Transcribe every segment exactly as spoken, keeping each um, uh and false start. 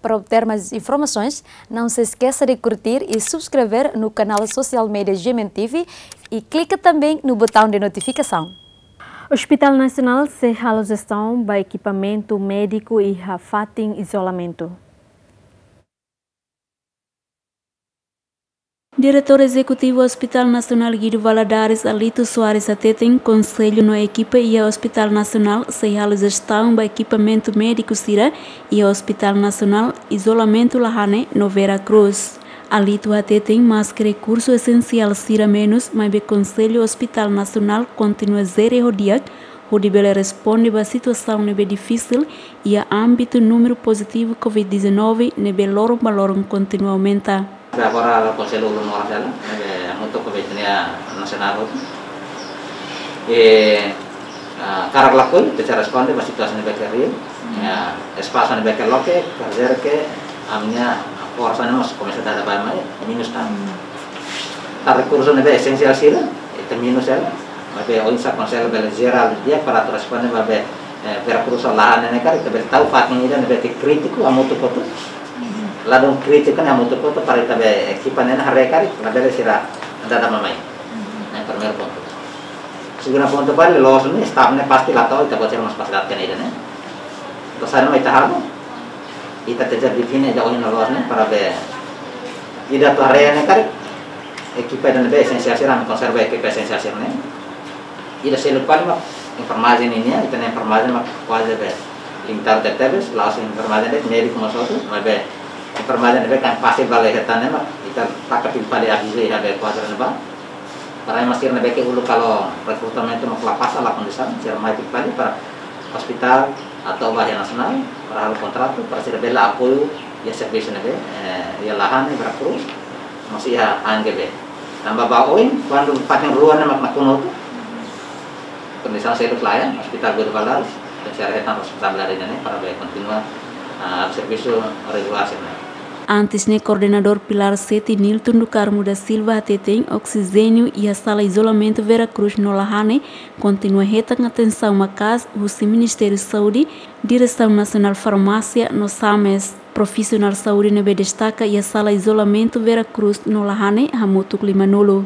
Para obter mais informações, não se esqueça de curtir e subscrever no canal social media G M N T V e clica também no botão de notificação. Hospital Nasionál sei halo jestaun ba ekipamentu médiku iha fatin izolamentu. Diretór Ezekutivu Hospital Nasionál Guido Valadares, Alito Soares hateten, Konsellu no ekipa iha Hospital Nasionál sei halo jestaun ba ekipamentu médiku sira iha Hospital Nasionál, izolamentu Lahane no Vera Cruz. Alito hateten, maske rekursu esensiál sira menus, maibé Konsellu Hospital Nasionál kontinua jere ho di'ak, hodi bele responde ba situasaun ne'ebé difisil iha ámbitu númeru pozitivu covid dezanove ne'ebé loron ba loron kontinua aumenta. Agora Konsellu ulun oras hela, ne'ebé hamutuk ho Veterinária Nasionál hotu. E, ah, hakarak lakohi, ita sei responde ba situasaun ne'ebé ke reál. Ya, espasu ne'ebé ke loke, kerja ke, ami-nia forsa ne'e mós komesa dada bá mai, menus tan. Tan rekursu ne'ebé esensiál sira, ita menus hela. Maibé oinsá Konsellu bele jerál di'ak para atu responde ba be, eh, Vera Cruz ho Lahane ne'e karik, ita bele tau fatin ida ne'ebé ke krítiku hamutuk hotu. Ladún krítiku ne'e hamutuk hotu para ita be ekipa ne'e haree karik, labele sira dada mai. Ne'e primeiru pontu. Segundu pontu, ba loos ne'e, staff ne'e pasti la to'o, ita-boot sira mós pasti la hatene ida-ne'e. Entaun saida mak ita halo, ita tenke define ida ohin loos ne'e, para be ida atu haree ne'e karik, ekipa ida ne'ebé esensiál sira, ami konsidera ekipa esensiál sira-ne'e. Ida seluk fali mak enfermajen nian, ita-nia enfermajen mak kuaze be limitadu tebetebes, la'ós enfermajen de'it, médiku mós hotu, maibé enfermajen ne'ebé ke fasil bele hetan ne'e mak, ita taka fila fali avizu iha be kuadru ne'ebá. Para ema sira ne'ebé ke uluk halo rekrutamentu mak la pasa, la kondisaun, sira mai fila fali para hospital atu ba iha nasionál, para halo kontratu, para sira bele apoiu iha servisu ne'ebé, eh, iha Lahane, Vera Cruz, mós iha Anhembi. Tanba ba oin, kuandu fatin rua ne'e mak nakonu hotu, kondisaun seluk lae, Hospital Guido Valadares, tenke sira hetan responsabilidade ne'e para be kontinua, ah, servisu regulár sira-ne'e. Antes ne'e, koordenadór Pilar Sete, Nilton do Carmo da Silva, hateten, oksijéniu iha sala izolamentu Vera Cruz no Lahane kontinua hetan atensaun maka'as husi Ministériu Saúde, Diresaun Nasionál Farmásia no SAMES. Profisionál saúde ne'ebé destaka iha sala izolamentu Vera Cruz no Lahane hamutuk limanulu.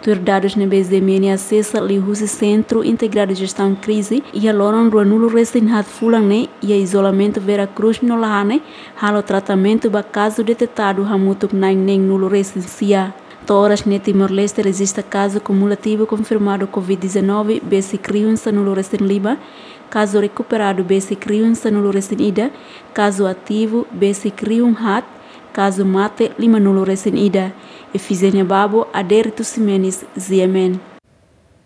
Tuir dadus ne'ebé G M N asesa liuhusi Sentru Integradu Jestaun Krize, iha loron ruanulu-resin-haat fulan ne'e, iha izolamentu Vera Cruz no Lahane halo tratamentu ba kazu detetadu hamutuk na'in neenulu-resin-sia. To'o oras ne'e Timor-Leste rejista kazu kumulativu konfirmadu covid dezanove besik rihun sanulu-resin-lima, kazu rekuperadu besik rihun sanulu-resin-ida, kazu ativu besik rihun haat, kazu mate limanulu-resin-ida. Efizénia Babo, Adérito Ximenes, G M N.